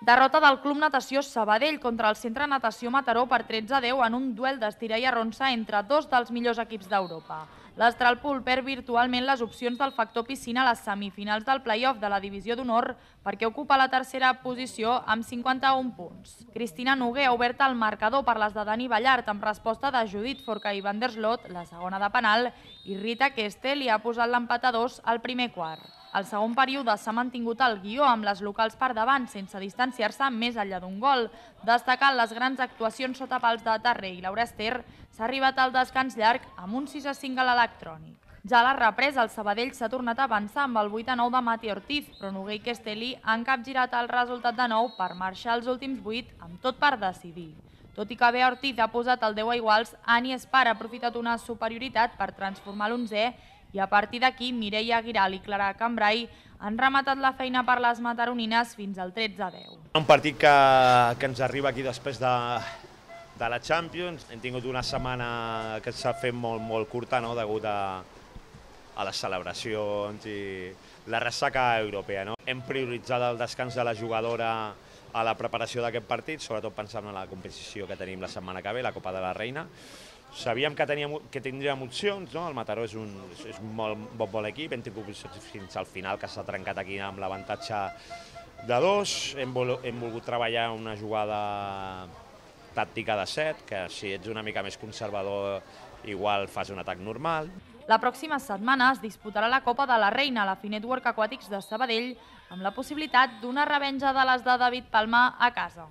Derrota del Club Natació Sabadell contra el Centre Natació Mataró per 13-10 en un duel d'estira i arronsa entre dos dels millors equips d'Europa. L'Astralpool perd virtualment les opcions del factor piscina a les semifinals del play-off de la Divisió d'Honor perquè ocupa la tercera posició amb 51 punts. Cristina Noguer ha obert el marcador per les de Dani Ballart amb resposta de Judit Forca i Van der Slot, la segona de penal, i Rita Keste li ha posat l'empat a 2 al primer quart. Al segon període s'ha mantingut el guió amb les locals per davant sense distanciar-se més enllà d'un gol. Destacant les grans actuacions sota pals de Terrer i Laura Ester, s'ha arribat al descans llarg amb un 6-5 a l'electrònic. Ja a la represa, el Sabadell s'ha tornat a avançar amb el 8-9 de Mati Ortiz, però Noguer i Kesteli han capgirat el resultat de 9 per marxar als últims 8 amb tot per decidir. Tot i que bé Ortiz ha posat el 10 a iguals, Ani Espar ha aprofitat una superioritat per transformar l'11è i a partir d'aquí Mireia Aguiral i Clara Cambrai han rematat la feina per les mataronines fins al 13-10. Un partit que ens arriba aquí després de la Champions. Hem tingut una setmana que s'ha fet molt curta, degut a les celebracions i la ressaca europea. Hem prioritzat el descans de la jugadora a la preparació d'aquest partit, sobretot pensant en la competició que tenim la setmana que ve, la Copa de la Reina. Sabíem que tindríem opcions, el Mataró és un molt bon equip, hem tingut opcions fins al final, que s'ha trencat aquí amb l'avantatge de 2. Hem volgut treballar una jugada tàctica de 7, que si ets una mica més conservador igual fas un atac normal. La pròxima setmana es disputarà la Copa de la Reina a la Finetwork Aquàtics de Sabadell amb la possibilitat d'una revenja de les de David Palma a casa.